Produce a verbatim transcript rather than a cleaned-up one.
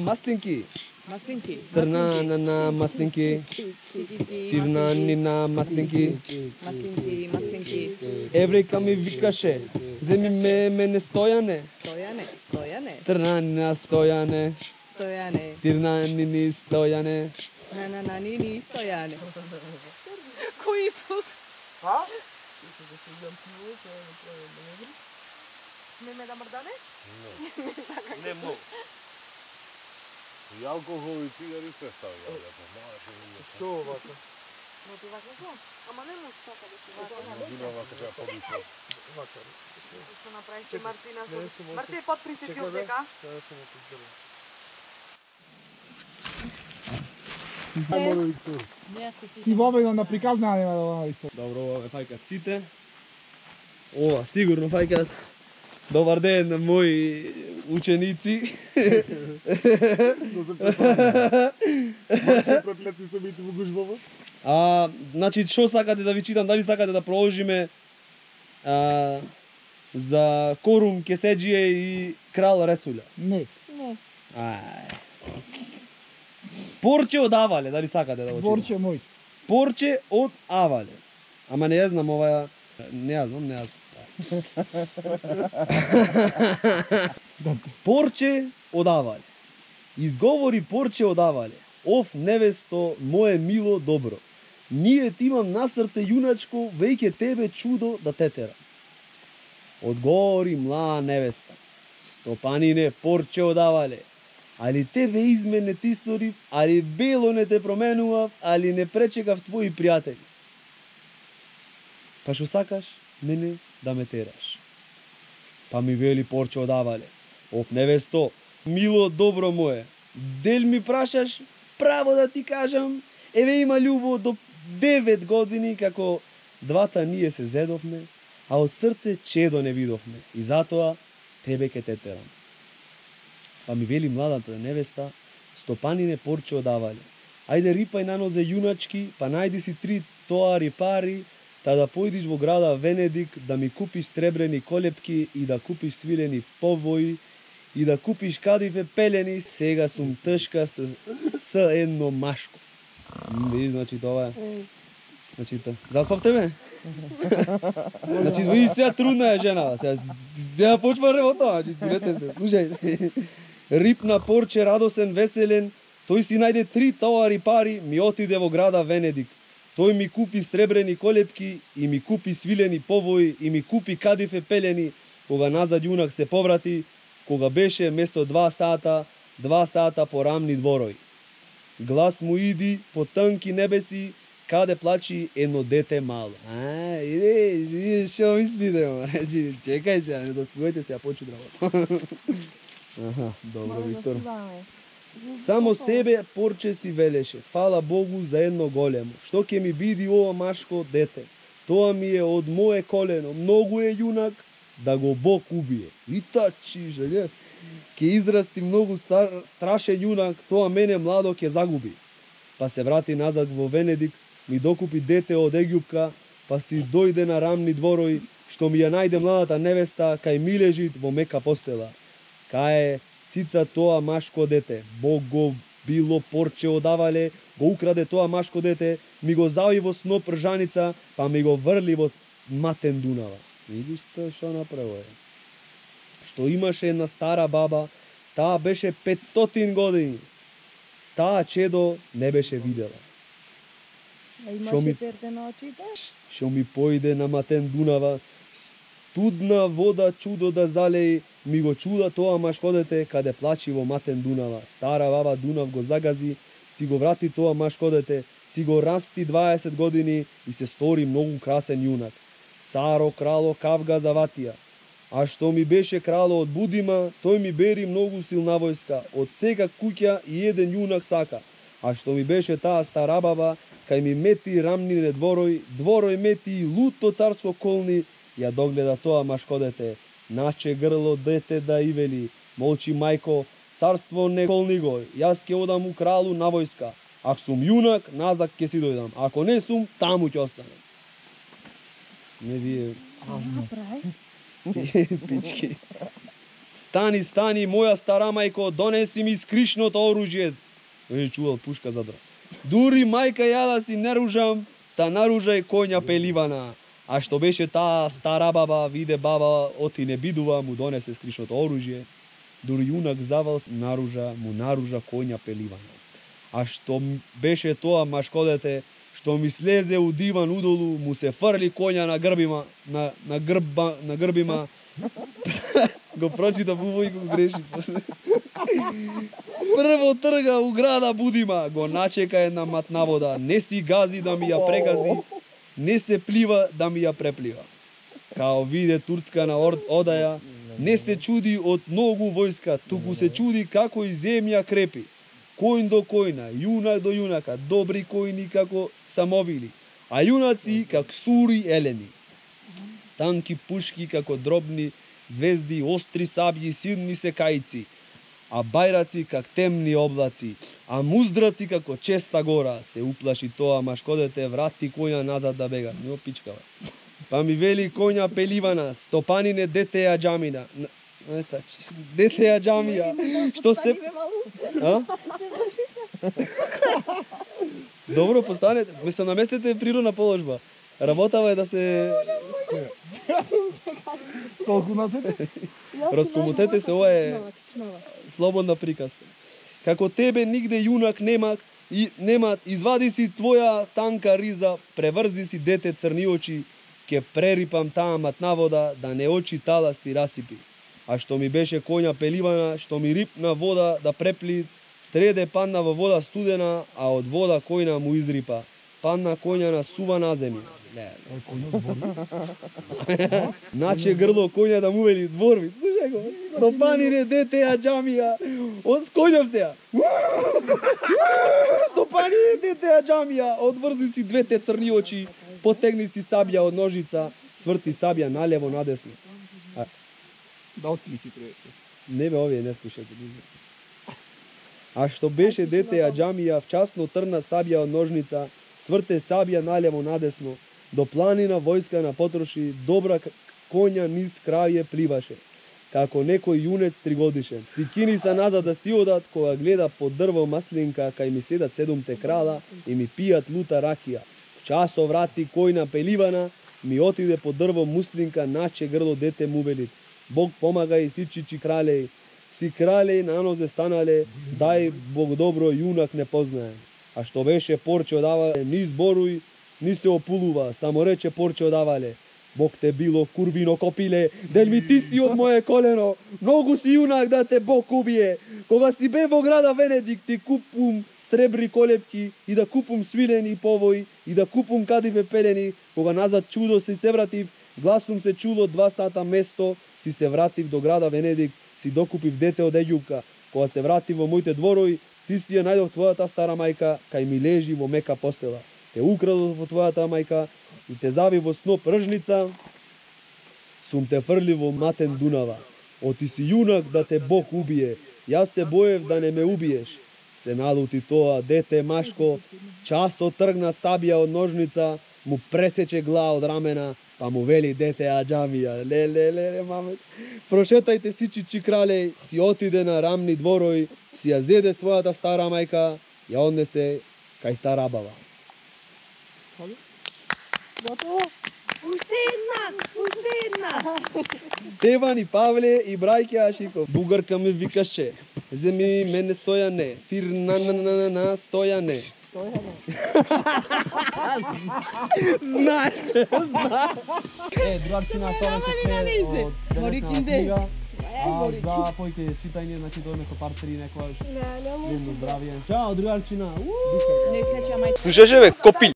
Маслинки. Маслинки. Трна на на маслинки. Тивна ни на маслинки. Маслинки, маслинки. Еврейка ми викаше, земи ме мене Стојане. Стојане, Стојане. Трна ни на Стојане. Стојане. Тивна ни ни Стојане. На на на ни ни Стојане. Кој Исус? А? Не ме да мрдане? Не многу. И алкохол и цигари се ставија. Што вака? Но ти вака што? Ама не може така да се вака. Вина вака треба побица. Вака. Што направише Мартина? Марти, подпри се ти од дека. Ти вобедно на приказна нема да го Виктор. Добро, ова фаќаат сите. Ова сигурно фаќаат. Добар ден на мои ученици. Проклети се бити во гужбава. А, значи, што сакате да ви читам? Дали сакате да продолжиме а, за Корум, Кесеџија и Крал Ресуља? Не. Ај. Порче од Авале, дали сакате да го читам? Борче мој. Порче од Авале. Ама не ја знам оваа... Не ја знам, не ја знам. Порче од Авале. Изговори Порче од Авале. Оф, невесто, мое мило добро. Ние ти имам на срце јуначко, веќе тебе чудо да те терам. Одговори млада невеста. Стопанине, Порче од Авале. Али тебе измен не ти сторив, али бело не те променував, али не пречекав твои пријатели. Па шо сакаш мене да ме тераш? Па ми вели Порче од Авале. Оф, невесто, мило добро мое, дел ми прашаш, право да ти кажам, еве има љубов до девет години како двата ние се зедовме, а од срце чедо не видовме, и затоа тебе ке те терам. Па ми вели младата невеста, стопанине Порче од Авале. Ајде рипај на нозе јуначки, па најди си три тоари пари, та да појдиш во града Венедик да ми купиш сребрени колепки и да купиш свилени повои и да купиш кадифе пелени, сега сум тешка с, с едно машко. Видиш, значи тоа е. Значи, заспавте ме? Значи, ви сега трудна е жена, сега, сега почва ревота, значи, видете се, слушајте. Рипна Порче радосен, веселен, тој си најде три тоари пари, ми отиде во града Венедик. Тој ми купи сребрени колепки и ми купи свилени повои и ми купи кадифе пелени, кога назад јунак се поврати, кога беше место два сата, два сата по рамни дворови. Глас му иди по тънки небеси, каде плачи едно дете мало. А, иде, иде, шо мислите, ма? Речи, чекај се, не доспувате се, ја почу работа. Аха, добро, Виктор. Само себе Порче си велеше, фала Богу за едно големо. Што ќе ми биди ова машко дете? Тоа ми е од мое колено, многу е јунак, да го Бог убие. И тачи, жеге. Ке израсти многу стар, страшен јунак, тоа мене младо ќе загуби. Па се врати назад во Венедик, ми докупи дете од Египка, па си дојде на рамни дворови, што ми ја најде младата невеста кај милежит во мека постела. Кај цица тоа машко дете, Бог го било Порче од Авале, го украде тоа машко дете, ми го зави во сноп ржаница, па ми го врли во матен Дунава. Видиш тоа што направо е. Што имаше една стара баба, таа беше петстотин години. Таа чедо не беше видела. А имаше перде на очите? Што ми појде на матен Дунава, студна вода чудо да залеи, ми го чуда тоа машко дете каде плачи во матен Дунава. Стара баба Дунав го загази, си го врати тоа машко дете, си го расти дваесет години и се стори многу красен јунак. Царо, крало, кавга заватија. А што ми беше крало од Будима, тој ми бери многу силна војска, од сека куќа и еден јунак сака. А што ми беше таа стара баба, кај ми мети рамнине дворој, дворој мети и луто царско колни, ја догледа тоа машко дете. Наче грло дете да и вели, молчи мајко, царство не колни го, јас ќе одам у кралу на војска. Ако сум јунак, назад ќе си дојдам, ако не сум, таму ќе останам. Не вие... Направи. Пички. Стани, стани, моја стара мајко, донеси ми скришното оружје. Веќе чувал пушка задра. Дури мајка ја да си наружам, та наружај коња пеливана. А што беше таа стара баба, виде баба, оти не бидува, му донесе скришното оружје. Дури јунак завал наружа, му наружа коња пеливана. А што беше тоа машкодете, што ми слезе у диван удолу, му се фрли коња на грбима, на, на, грба, на грбима, го прочита бубо и го греши. Прво трга у града Будима, го начека една матна вода, не си гази да ми ја прегази, не се плива да ми ја преплива. Као виде турцка на одаја, не се чуди од многу војска, туку се чуди како и земја крепи. Којн до којна, јунак до јунака, добри којни како самовили, а јунаци како сури елени. Танки пушки како дробни звезди, остри сабји, силни секајци, а бајраци как темни облаци, а муздраци како честа гора. Се уплаши тоа машкодете, врати коња назад да бега. Не опичкава. Па ми вели коња пеливана, стопанине дете ја џамина. Дете ја џамија. Што се... А? Добро, постанете. Ме се наместете природна положба. Работава е да се... Толку нацете? Раскомутете се, ова е слободна приказка. Како тебе нигде јунак немак, и немат, извади си твоја танка риза, преврзи си дете црни очи, ке прерипам таа матна вода, да не очи талас ти расипи. А што ми беше коња пеливана, што ми рипна вода да препли, стреде падна во вода студена, а од вода којна му изрипа. Падна коња на сува на земја. Наче грло коња да му вели зборви. Слушај го. Стопанине дете ја џамија. Од коњам се ја. Стопанине дете ја џамија. Одврзи си двете црни очи, потегни си сабја од ножица, сврти сабја налево надесно. А... Да отклики треба. Не бе, овие не слушате. А што беше дете ја џамија, вчасно трна сабја од ножница, сврте сабја налево надесно, до планина војска на потроши, добра коња низ краје пливаше, како некој јунец тригодишен. Си кини се назад да си одат, кога гледа под дрво маслинка, кај ми седат седумте крала и ми пијат лута ракија. Часо врати којна пеливана, ми отиде под дрво муслинка, наче грло дете му вели. Бог помага и сичичи кралеј, си кралеј на нозе станале, дај Бог добро јунак не познае. А што беше порче одавале, ни зборуј, ни се опулува, само рече порче одавале. Бог те било курвино копиле, дел ми ти си од моje колено, многу си јунак да те Бог убие. Кога си бе во града Венедик, ти купум стребри колепки и да купум свилени повои и да купум кадиве пелени. Кога назад чудо си се вратив, гласум се чуло два сата место, си се вратив до града Венедик, си докупив дете од Еѓупка. Кога се вратив во моите дворови, ти си ја најдов твојата стара мајка, кај ми лежи во мека постела. Те украдов во твојата мајка и те зави во сноп ржница, сум те фрли во матен Дунава. Оти си јунак да те Бог убие, јас се боев да не ме убиеш. Се налути тоа дете машко, часо тргна сабја од ножница, му пресече глава од рамена, па му вели дете ја џамија. Ле, ле, ле, ле, мамет. Прошетајте сичичи кралеј, си отиде на рамни дворови, си ја зеде својата стара мајка, ја однесе кај стара баба. Готово? Уште една, уште една. Стеван и Павле и брајке Ашиков. Бугарка ми викаше, земи мене Стојане, тир на на на на на Стојане. Стојане. Знаеш, знаеш. Е, другарчина, тоа се све од денешната книга. А за појке читање, значи дојме со пар три некојаш. Видно здравје. Чао, другарчина. Не слеча мајка. Слушаше бе, копил.